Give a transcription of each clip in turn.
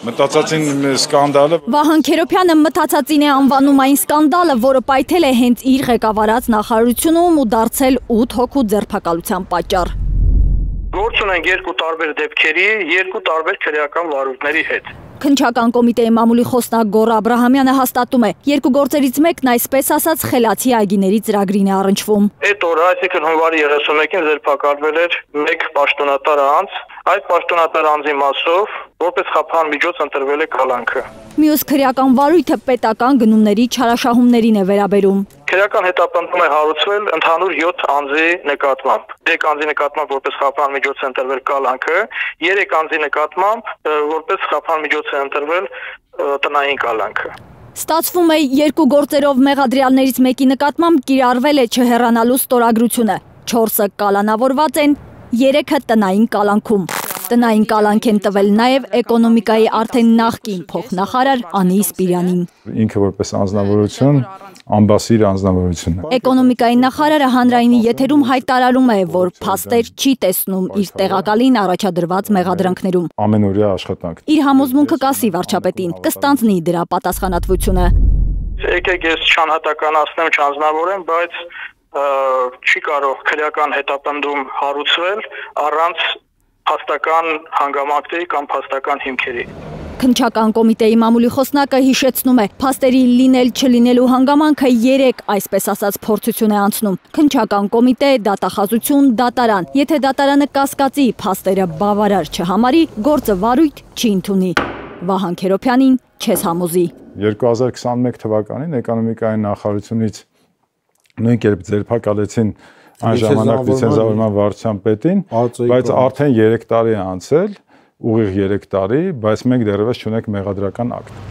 Մտածածին սկանդալը Վահան Քերոբյանը մտածածին է անվանում այն սկանդալը, որը պայթել է հենց իր ղեկավարած նախարարությունում ու դարձել 8 հոգու ձերբակալության պատճառ։ Գործ ունենք երկու տարբեր դեպքերի, երկու տարբեր քրեական վարույթների հետ։ Քննչական կոմիտեի մամուլի խոսնակ Գոռ Աբրահամյանը հաստատում է, երկու գործերից մեկն այսպես ասած խելացի այգիների ծրագրին է առնչվում։ Այդ օրը, այսինքն հունվարի 31-ին ձերբակալվել էր մեկ պաշտոնատար անձ, այդ պաշտոնատար անձի մասով որպես խափան միջոց ընտրվել է կալանքը։ Մյուս քրեական վարույթը պետական գնումների չարաշահումներին է վերաբերում։ Քրեական հետապնդում է հարուցվել ընդհանուր 7 անձի նկատմամբ։ 3 անձի նկատմամբ որպես խափան միջոց է ընտրվել կալանքը, 3 անձի նկատմամբ որպես խափան միջոց է ընտրվել տնային կալանքը։ Ստացվում է երկու գործերով մեղադրյալներից մեկի նկատմամբ կիրառվել է չհեռանալու ստորագրությունը։ 4-ը կալանավորված են, 3-ը տնային կալանքում։ Տնային կալանք են տվել նաև էկոնոմիկայի արդեն նախկին փոխնախարար Անի Սպիրյանին։ ինքը որպես անձնավորություն, ամբասիր անձնավորություն է։ Էկոնոմիկայի նախարարը հանրայինի եթերում հայտարարում է, որ փաստեր չի տեսնում իր տեղակալին առաջադրված մեղադրանքներում։ Ամենօրյա աշխատանք։ Իր համոզմունքը կասի վարչապետին, կստանձնի դրա պատասխանատվությունը։ Եկեք ես չանհատականացնեմ, չանձնավորեմ, բայց չի կարող քրեական հետապնդում հարուցվել առանց փաստական հանգամանքների կամ փաստական հիմքերի։ Քննչական կոմիտեի մամուլի խոսնակը հիշեցնում է, փաստերի լինել չլինելու հանգամանքը 3 այսպես ասած փորձություն է անցնում։ Քննչական կոմիտե, դատախազություն, դատարան։ Եթե դատարանը կասկածի փաստերը բավարար չհամարի, գործը վարույթ չի ընդունի։ Վահան Քերոբյանին չես համոզի։ 2021 թվականին էկոնոմիկայի նախարարությունից նույն կերպ ձերբակալեցին այն ժամանակ լիցենզավորման վարչության պետին, բայց արդեն 3 տարի է անցել, ուղիղ 3 տարի, բայց մենք դեռևս չունենք մեղադրական ակտ։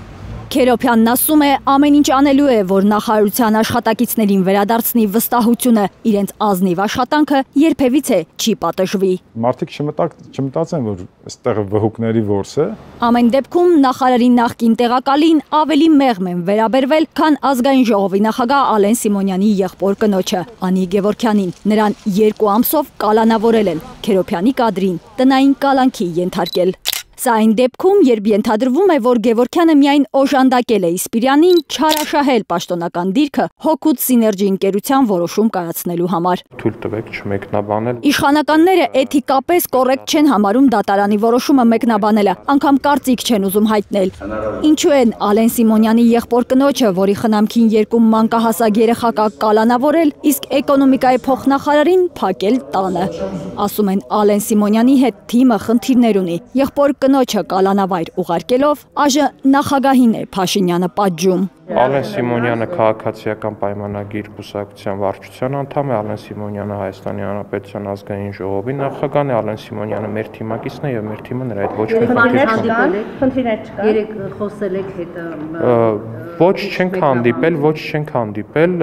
Քերոբյանն ասում է, ամեն ինչ անելու է, որ նախարարության աշխատակիցներին վերադարձնի վստահությունը, իրենց ազնիվ աշխատանքը երբևիցե չի պատժվի։ Մարդիկ չմտածեն, որ այստեղ վհուկների որս է։ Ամեն դեպքում նախարարի նախկին տեղակալին ավելի մեղմ են վերաբերվել, քան ազգային ժողովի նախագահ Ալեն Սիմոնյանի եղբոր կնոջը Անի Գևորգյանին։ Նրան 2 ամսով կալանավորել են, Քերոբյանի կադրին տնային կալանքի ենթարկել։ Սա այն դեպքում, երբ ենթադրվում է, որ Գևորգյանը միայն օժանդակել է Սպիրյանին չարաշահել պաշտոնական դիրքը հօգուտ Սիներգի ընկերության որոշում կայացնելու համար։ Թույլ տվեք չմեկնաբանել։ Իշխանականները էթիկապես կոռեկտ չեն համարում դատարանի որոշումը մեկնաբանելը, անգամ կարծիք չեն ուզում հայտնել։ Ինչու են Ալեն Սիմոնյանի եղբոր կնոջը, որի խնամքին 2 մանկահասակ երեխա կա կալանավորել, իսկ էկոնոմիկայի փոխնախարարին փակել տանը։ Ասում են Ալեն Սիմոնյանի հետ թիմը խնդիրներ ունի։ Եղբոր կնոջը կալանավայր ուղարկելով ԱԺ նախագահին է Փաշինյանը պատժում։ Ալեն Սիմոնյանը քաղաքացիական պայմանագիր կուսակցության վարչության անդամ է, Ալեն Սիմոնյանը Հայաստանի Հանրապետության ազգային ժողովի նախագահն է, Ալեն Սիմոնյանը մեր թիմակիցն է եւ մեր թիմը նրա հետ ոչ մի խնդիրներ չկա։ Երեք խոսել եք հետը։ Ոչ չենք հանդիպել,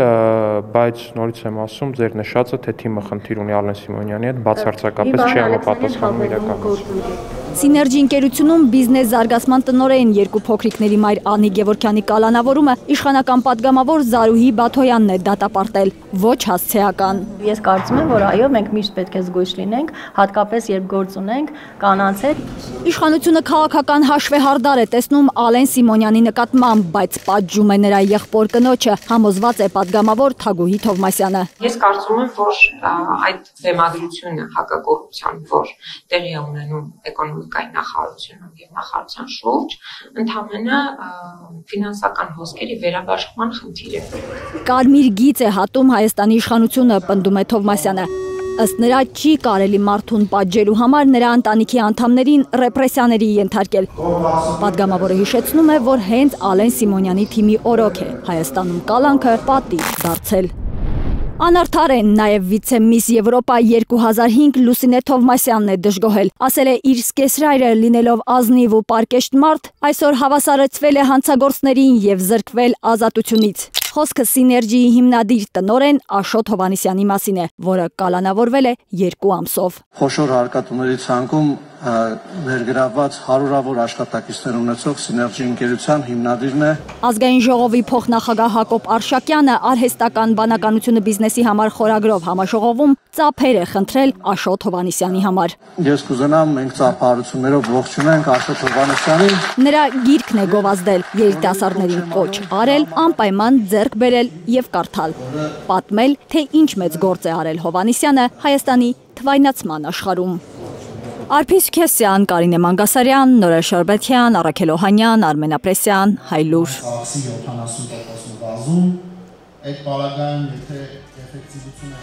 բայց նորից եմ ասում, ձեր նշածը թե թիմը խնդիր ունի Ալեն Սիմոնյանի հետ բացարձակապես չի համապատասխանում իրականությանը։ Սիներգի ընկերությունում բիզնես զարգացման տնօրեն 2 փոքրիկների մայր Անի Գևորգյանի կալանավորումը իշխանական պատգամավոր Զարուհի Բաթոյանն է դատապարտել, ոչ հասցեական։ Ես կարծում եմ, որ այո, մենք միշտ պետք է զգույշ լինենք, հատկապես երբ գործ ունենք կանանց հետ։ Իշխանությունը քաղաքական հաշվեհարդար է տեսնում Ալեն Սիմոնյանի նկատմամբ, բայց պատժում է նրա եղբոր կնոջը, համոզված է պատգամավոր Թագուհի Թովմասյանը։ Ես կարծում եմ, որ այդ բեմադրությունը հակակոռուպցիան, որ տեղի է ունենում էկոնոմիկայի նախարարությունում եւ նախարարության շուրջ, ընդհանրապես ֆինանսական հոսքերի վերաբաշխման խնդիր է։ Կարմիր գիծ է հատում Հայաստանի իշխանությունը, պնդում է Թովմասյանը։ Ըստ նրա չի կարելի մարդուն պատժելու համար նրա ընտանիքի անդամներին ռեպրեսիաների ենթարկել։ Պատգամավորը հիշեցնում է, որ հենց Ալեն Սիմոնյանի թիմի օրոք է Հայաստանում կալանքը պատիժ դարձել։ Անարդար են նաև վիցեմիս Եվրոպա 2005 Լուսինե Թովմասյանն է դժգոհել, ասել է իր սկեսրայրը լինելով ազնիվ ու պարկեշտ մարդ, այսօր հավասարեցվել է հանցագործներին եւ զրկվել ազատությունից։ Խոսքը Սիներգիի հիմնադիր տնօրեն Աշոտ Հովհաննիսյանի մասին է, որը կալանավորվել է 2 ամսով։ Խոշոր հարկատուների ցանկում ներգրավված հարյուրավոր աշխատակիցներ ունեցող Սիներգի ընկերության հիմնադիրն է։ Ազգային ժողովի փոխնախագահ Հակոբ Արշակյանը արհեստական բանականությունը բիզնեսի համար խորագրով համաժողովում ծափեր է խնդրել Աշոտ Հովհաննիսյանի համար։ Ես կուզենամ մենք ծափահարություններով ողջունենք Աշոտ Հովհաննիսյանին։ Նրա գիրքն է գովազդել, երիտասարդներին կոչ արել, անպայման ձեռք բերել եւ կարդալ։ Պատմել, թե ինչ մեծ գործ է արել Հովհաննիսյանը Հայաստանի թվայնացման աշխարհում։ Արփիս Քեսյան, Կարինե Մանգասարյան, Նորեր Շարբեթյան, Առաքել Օհանյան, Արմեն Ապրեսյան, Հայլուր։ 70% բազում, այդ պարագայում եթե էֆեկտիվությունը